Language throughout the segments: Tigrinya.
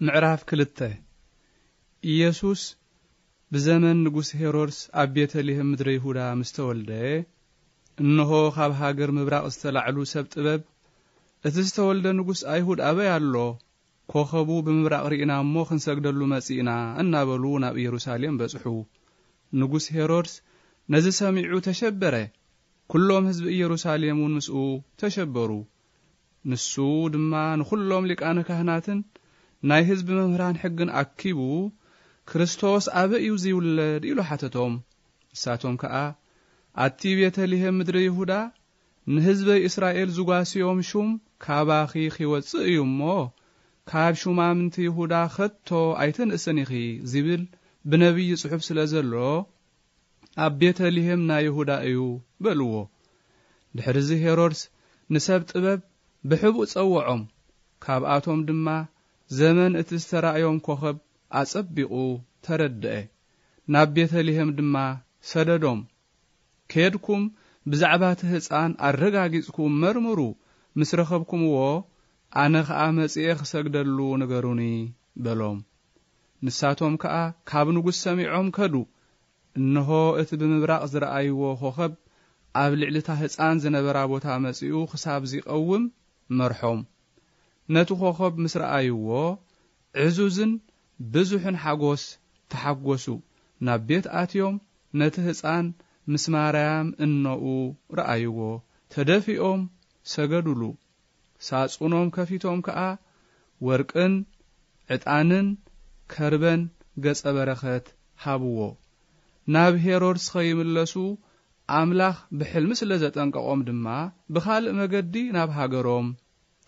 ምዕራፍ ክልተ። ኢየሱስ ብዘመን ንጉስ ሄሮድስ ኣብ ቤተልሔም ምድረ ይሁዳ ምስ ተወልደ፣ እንሆ፣ ካብ ሃገር ምብራቕ ዝተላዕሉ ሰብ ጥበብ፣ "እቲ ዝተወልደ ንጉስ ኣይሁድ ኣበይ ኣሎ? ኮኸቡ ብምብራቕ ርኢና እሞ ክንሰግደሉ መጺእና" እናበሉ ናብ ኢየሩሳሌም በጽሑ። ንጉስ ሄሮድስ ነዚ ሰሚዑ ተሸበረ፣ ኩሎም ህዝቢ ኢየሩሳሌም እውን ምስኡ ተሸበሩ። ንሱ ድማ ንኹሎም ሊቃነ ካህናትን ናይ ህዝቢ መምህራን ሕግን ኣኪቡ፣ "ክርስቶስ ኣበይ እዩ ዚውለድ?" ኢሉ ሓተቶም። ንሳቶም ከኣ፣ "ኣቲ ቤተልሔም ምድሪ ይሁዳ፣ ንህዝበይ እስራኤል ዝጓስዮም ሹም ካባኺ ኺወጽእ እዩ እሞ፣ ካብ ሹማምንቲ ይሁዳ ኸቶ ኣይተንእስን ኢኺ" ዚብል ብነቢይ ጽሑፍ ስለ ዘሎ፣ "ኣብ ቤተልሔም ናይ ይሁዳ እዩ" በልዎ። ድሕርዚ ሄሮድስ ንሰብ ጥበብ ብሕቡእ ጸውዖም። ካብኣቶም ድማ ዘመን እቲ ዝተራእዮም ኮኸብ ኣጸቢቑ ተረድአ። ናብ ቤተልሔም ድማ ሰደዶም። "ኬድኩም ብዛዕባ እቲ ህጻን ኣረጋጊጽኩም መርምሩ፣ ምስ ረኸብኩምዎ፣ ኣነ ኸኣ መጺኤ ክሰግደሉ ንገሩኒ" በሎም። ንሳቶም ከኣ ካብ ንጉስ ሰሚዖም ከዱ። እንሆ፣ እቲ ብምብራቕ ዝረኣይዎ ኾኸብ ኣብ ልዕሊ እታ ህጻን ዝነበራ ቦታ መጺኡ ክሳብ ዚቐውም መርሖም። ነቲ ኾኸብ ምስ ረኣይዎ፣ ዕዙዝን ብዙሕን ሓጎስ ተሓጎሱ። ናብ ቤት ኣትዮም፣ ነቲ ህጻን ምስ ማርያም እኖኡ ረኣይዎ። ተደፊኦም ሰገዱሉ። ሳጹኖም ከፊቶም ከኣ ወርቅን ዕጣንን ከርበን ገጸ በረኸት ሃብዎ። ናብ ሄሮድስ ኸይምለሱ ኣምላኽ ብሕልሚ ስለ ዘጠንቀቖም ድማ፣ ብኻልእ መገዲ ናብ ሃገሮም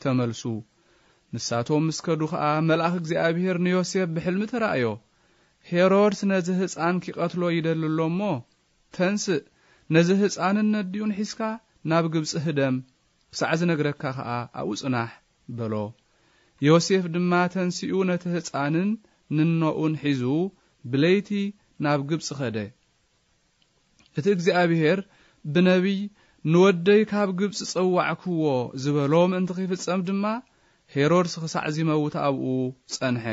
ተመልሱ። ንሳቶም ምስ ከዱ ኸኣ፣ መልኣኽ እግዚኣብሄር ንዮሴፍ ብሕልሚ ተራእዮ። "ሄሮድስ ነዚ ህጻን ኪቐትሎ ይደሊ ኣሎ እሞ፣ ተንስእ፣ ነዚ ህጻንን ነዲኡን ሒዝካ ናብ ግብጺ ህደም፣ ክሳዕ ዝነግረካ ኸኣ ኣብኡ ጽናሕ" በሎ። ዮሴፍ ድማ ተንሲኡ ነቲ ህጻንን ንኖኡን ሒዙ ብለይቲ ናብ ግብጺ ኸደ። እቲ እግዚኣብሄር ብነቢይ፣ "ንወደይ ካብ ግብጺ ጸዋዕክዎ" ዝበሎ ምእንቲ ኺፍጸም ድማ፣ ሄሮድስ ኽሳዕ ዚመውት ኣብኡ ጸንሐ።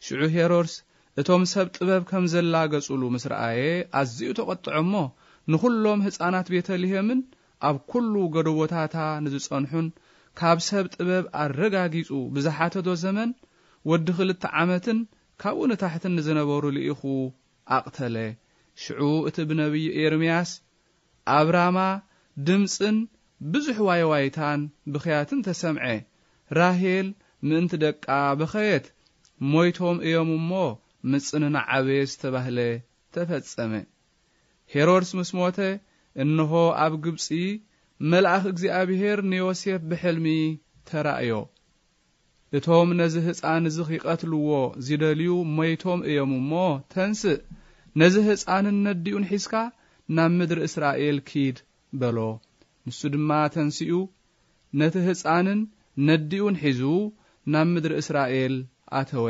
ሽዑ ሄሮድስ እቶም ሰብ ጥበብ ከም ዘላገጹሉ ምስ ረኣየ፣ ኣዝዩ ተቖጥዐ እሞ፣ ንኹሎም ህጻናት ቤተልሔምን ኣብ ኩሉ ጎደቦታታ ንዝጸንሑን ካብ ሰብ ጥበብ ኣረጋጊጹ ብዝሓተቶ ዘመን ወዲ ክልተ ዓመትን ካብኡ ንታሕትን ንዝነበሩ ልኢኹ ኣቕተለ። ሽዑ እቲ ብነቢይ ኤርምያስ፣ "ኣብ ራማ ድምጽን ብዙሕ ዋይዋይታን ብኽያትን ተሰምዐ፣ ራሄል ምእንቲ ደቃ በኸየት፣ ሞይቶም እዮም እሞ ምጽንናዕ ኣበየ" ዝተባህለ ተፈጸመ። ሄሮድስ ምስ ሞተ፣ እንሆ፣ ኣብ ግብጺ መልኣኽ እግዚኣብሄር ንዮሴፍ ብሕልሚ ተራእዮ። "እቶም ነዚ ህጻን እዚ ኺቐትልዎ ዚደልዩ ሞይቶም እዮም እሞ፣ ተንስእ፣ ነዚ ህጻንን ነዲኡን ሒዝካ ናብ ምድሪ እስራኤል ኪድ" በሎ። ንሱ ድማ ተንሲኡ፣ ነቲ ህጻንን ነዲኡን ሒዙ ናብ ምድሪ እስራኤል ኣተወ።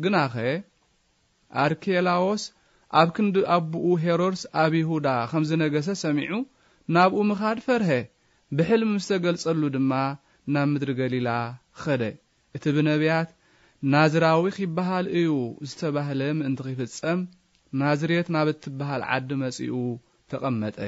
ግናኸ፣ ኣርኬላዎስ ኣብ ክንዲ ኣቦኡ ሄሮድስ ኣብ ይሁዳ ኸም ዝነገሰ ሰሚዑ፣ ናብኡ ምኻድ ፈርሀ። ብሕልሚ ምስ ተገልጸሉ ድማ፣ ናብ ምድሪ ገሊላ ኸደ። እቲ ብነቢያት፣ "ናዝራዊ ኺበሃል እዩ" ዝተባህለ ምእንቲ ኺፍጸም፣ ናዝሬት ናብ እትበሃል ዓዲ መጺኡ ተቐመጠ።